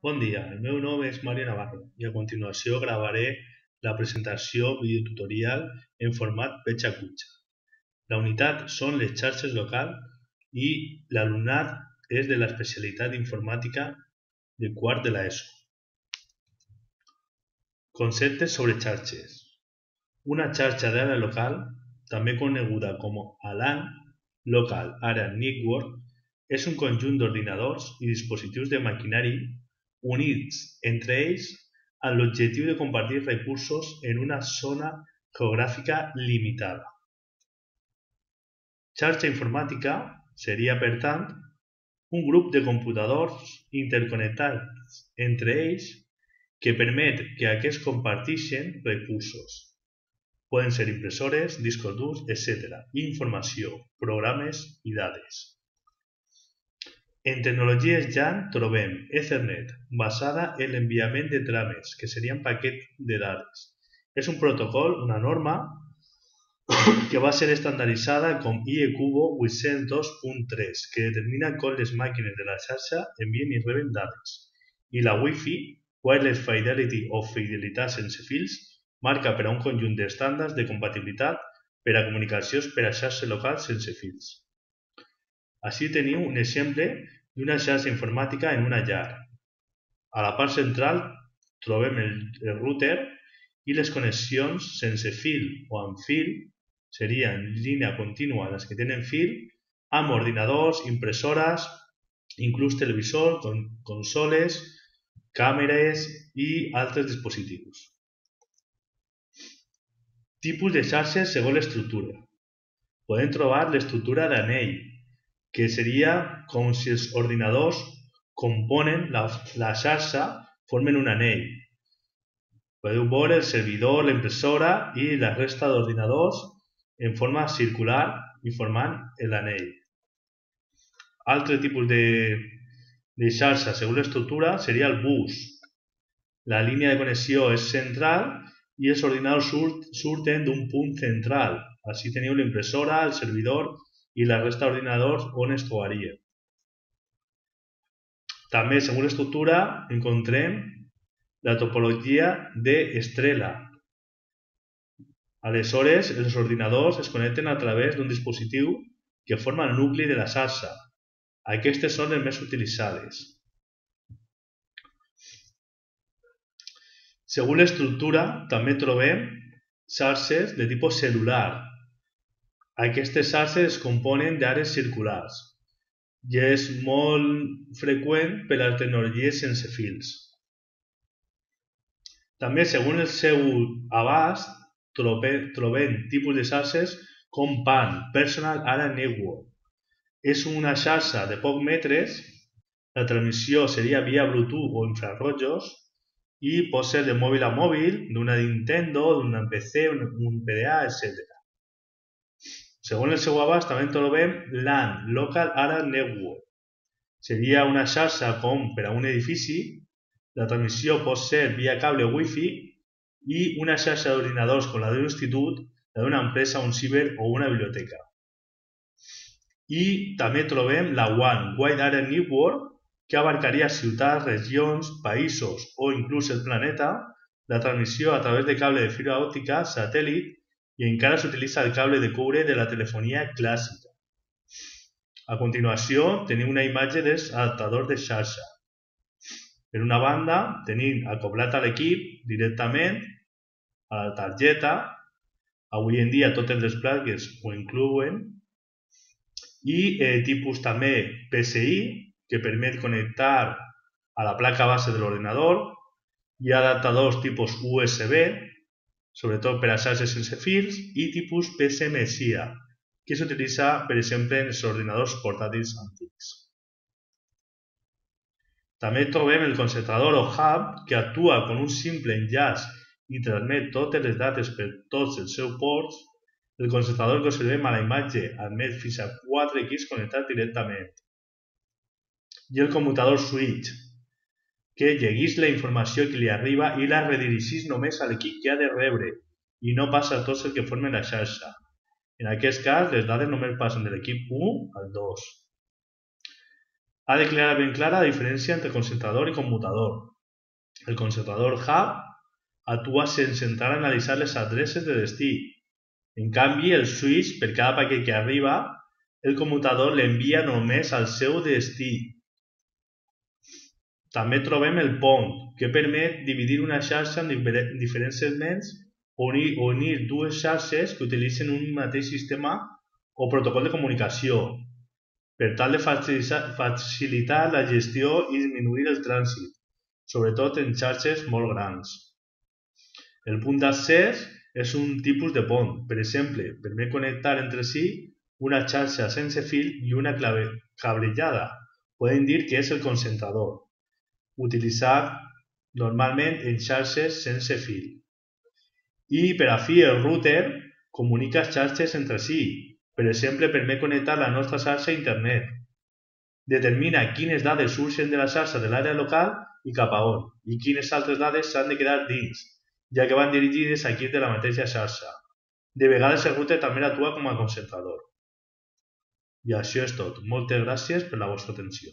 Bon dia, el meu nom és Mario Navarro i a continuació gravaré la presentació videotutorial en format Pecha-Kucha. La unitat són les xarxes locals i l'alumnat és de l'especialitat d'informàtica de quart de l'ESO. Conceptes sobre xarxes. Una xarxa d'àrea local, també coneguda com a LAN, Local Area Network, és un conjunt d'ordinadors i dispositius de maquinari units entre ells amb l'objectiu de compartir recursos en una zona geogràfica limitada. Xarxa informàtica seria, per tant, un grup de computadors interconnectats entre ells que permet que aquests comparteixin recursos. Poden ser impressores, discos durs, etc. Informació, programes i dades. En tecnologies LAN trobem Ethernet, basada en l'enviament de trames, que serien paquets de dades. És un protocol, una norma, que va ser estandarditzada com IECUBO 802.3, que determina com les màquines de la xarxa envien i reben dades. I la Wi-Fi, Wireless Fidelity o fidelitat sense fils, marca per a un conjunt d'estàndards de compatibilitat per a comunicacions per a xarxes locals sense fils. Així teniu un exemple d'una xarxa informàtica en una llar. A la part central trobem el router i les connexions sense fil o amb fil, seria en línia contínua les que tenen fil, amb ordinadors, impressores, inclús televisors, consoles, càmeres i altres dispositius. Tipus de xarxes segons l'estructura. Podem trobar l'estructura d'anell, que seria com si els ordinadors componen la xarxa, formen un anell. Podeu veure el servidor, la impressora i la resta d'ordinadors en forma circular i formant l'anell. Altre tipus de xarxa segons l'estructura seria el bus. La línia de connexió és central i els ordinadors surten d'un punt central. Així teniu l'impressora, el servidor i la resta d'ordinadors on es trobaria. També, segons l'estructura, encontrem la topologia d'estrela. Aleshores, els ordinadors es connecten a través d'un dispositiu que forma el nucli de la xarxa. Aquestes són les més utilitzades. Segons l'estructura, també trobem xarxes de tipus celular. Aquestes xarxes es componen d'àrees circulars i és molt freqüent per a les tecnologies sense fils. També, segons el seu abast, trobem tipus de xarxes com PAN, Personal Area Network. És una xarxa de pocs metres, la transmissió seria via Bluetooth o infrarrojos i pot ser de mòbil a mòbil, d'una Nintendo, d'una PC, un PDA, etc. Segons el seu abast també trobem LAN, Local Area Network. Seria una xarxa com per a un edifici, la transmissió pot ser via cable Wi-Fi i una xarxa d'ordinadors com la d'un institut, la d'una empresa, un ciber o una biblioteca. I també trobem la WAN, Wide Area Network, que abarcaria ciutats, regions, països o inclús el planeta, la transmissió a través de cable de fibra òptica, satèl·lit, i encara s'utilitza el cable de coure de la telefonia clàssica. A continuació, tenim una imatge dels adaptadors de xarxa. Per una banda, tenim acoblat a l'equip directament a la targeta. Avui en dia totes les plaques ho inclouen. I tipus també PCI, que permet connectar a la placa base de l'ordinador. Hi ha adaptadors tipus USB, sobretot per a xarxes sense fils, i tipus PCMSIA, que s'utilitza, per exemple, en els ordinadors portàtils antics. També trobem el concentrador o hub, que actua com un simple enllaç i transmet totes les dades per tots els seus ports. El concentrador que observem a la imatge admet fins a 4 equips connectats directament. I el commutador switch, que llegeix la informació que li arriba i la redirigeix només a l'equip que ha de rebre i no passa a tots els que formen la xarxa. En aquest cas, les dades només passen de l'equip 1 al 2. Ha de quedar ben clara la diferència entre concentrador i commutador. El concentrador hub actua sense entrar a analitzar les adreces de destí. En canvi, el switch, per cada paquet que arriba, el commutador l'envia només al seu destí. També trobem el pont, que permet dividir una xarxa en diferents segments o unir dues xarxes que utilitzen un mateix sistema o protocol de comunicació, per tal de facilitar la gestió i disminuir el trànsit, sobretot en xarxes molt grans. El punt d'accés és un tipus de pont. Per exemple, permet connectar entre si una xarxa sense fil i una cablejada. Podem dir que és el concentrador, utilitzat normalment en xarxes sense fil. I per a fi el router comunica xarxes entre si. Per exemple, permet connectar la nostra xarxa a internet. Determina quines dades surten de la xarxa de l'àrea local i cap a on, i quines altres dades s'han de quedar dins, ja que van dirigides a equips de la mateixa xarxa. De vegades el router també actua com a concentrador. I això és tot. Moltes gràcies per la vostra atenció.